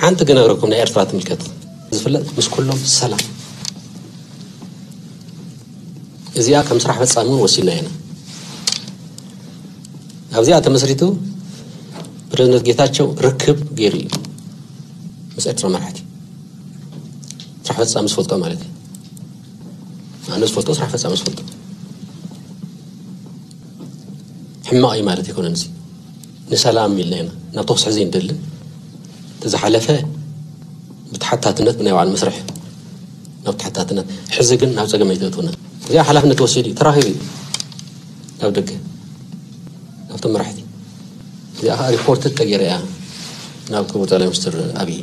ሓንቲ ክነግረኩም፣ ናይ ኤርትራ ትምልከት ዝፍለጥ ምስ ኩሎም ሰላም። እዚኣ ከም ስራሕ ፈጻሚ እውን ወሲድና ኢና። ኣብዚኣ ተመስሪቱ ፕረዚደንት ጌታቸው ርክብ ገይሩ እዩ ምስ ኤርትራ መራሕቲ። ስራሕ ፈጻሚ ዝፈልጦ ማለት እዩ። ኣነ ዝፈልጦ ስራሕ ፈጻሚ ዝፈልጦ። ሕማቕ እዩ ማለት ኣይኮነን። እዚ ንሰላም ኢልና ኢና ናብ ተኹሲ ሕዚ እንደልን። እቲ ዝሓለፈ ብተሓታትነት ብናይ ባዕሉ መስርሕ ናብ ተሓታትነት፣ ሕዚ ግን ናብ ጸገም ኣይተእትውና። እዚኣ ሓላፍነት ወሲዱ እዩ፣ ተራኺቡ እዩ ናብ ደገ፣ ናብቶም መራሕቲ። እዚኣ ከዓ ሪፖርት ተገይራ እያ ናብ ክቡር ጠቅላይ ሚኒስትር ኣብይ።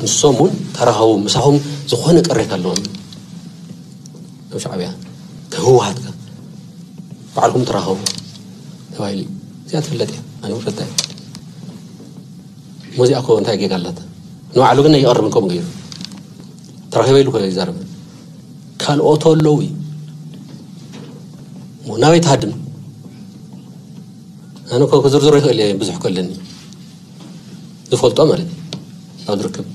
ንሶም እውን ተራኸቡ፣ ምሳኹም ዝኾነ ቅሬታ ኣለዎም ኣብ ሻዕብያ፣ ከህወሓትካ ባዕልኩም ተራኸቡ ተባሂሉ እዩ። እዚኣ ትፍለጥ እያ፣ ኣነ እውን ፈልጣ እየ። ሞዚኣ እኮ እንታይ ጌጋ ኣላታ? ንባዕሉ ግን ኣይቐርብን ከምኡ ገይሩ። ተራኺበ ኢሉ እኮ ይዛረብ። ካልኦት ኣለዉ እዩ። ናበይ ትሃድም? ኣነ እኮ ክዝርዝሮ ይኽእል እየ፣ ብዙሕ እኮ ኣለኒ። ዝፈልጦ ማለት እዩ። ኣብ ዝርከብ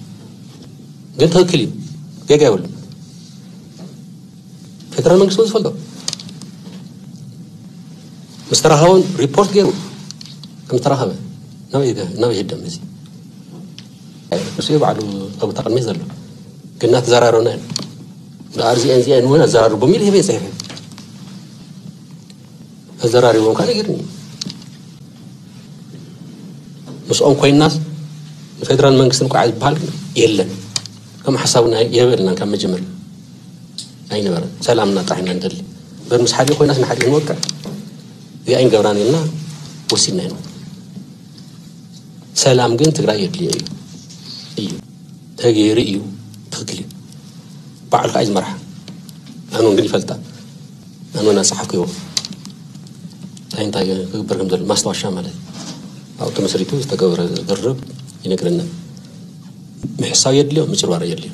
ግን ትኽክል እዩ። ጌጋ የብሉን። ፌደራል መንግስቲ እውን ዝፈልጦ። ምስ ተራኸቡን ሪፖርት ገይሩ ከም ዝተራኸበ ናበይ ገ-፣ ናበይ ይህደም እዚ? ንሱ እዩ ባዕሉ ኣብ ቦታ ቅድሚ ዘሎ። ግን እናተዘራረብና ኢና። ደኣ እዚአን እዚአን እውን ኣዘራርቦም ኢሉ ሂበ ይጽሕፍ እዩ። ኣዘራሪቦም ከዓ ነጊርኒ። ምስኦም ኮይናስ ንፌደራል መንግስትን ቋዕ ዝበሃል ግን የለን። ከም ሓሳብና የበልናን ካብ መጀመርያ ኣይነበረን። ሰላምና ጥራሕ ኢና ንደሊ። እምበር ምስ ሓደ ኮይናስ ንሓደ ንወቅዕ እዚኣ ኣይንገብራን ኢልና ወሲድና ኢና። ሰላም ግን ትግራይ የድልዮ እዩ። እዩ። ተገይሩ እዩ። ትኽክል እዩ። ባዕሉ ከዓ እዩ ዝመርሓ። ኣነ እውን ግን ይፈልጣ። ኣነ እውን ኣፀሓፍኩዎ። እንታይ እንታይ ክግበር ከም ዘሎ ማስታወሻ ማለት እዩ። ኣብኡ ተመስሪቱ ዝተገበረ ዝርርብ ይነግረና። ምሕሳው የድልዮ፣ ምጭርባር የድልዮ።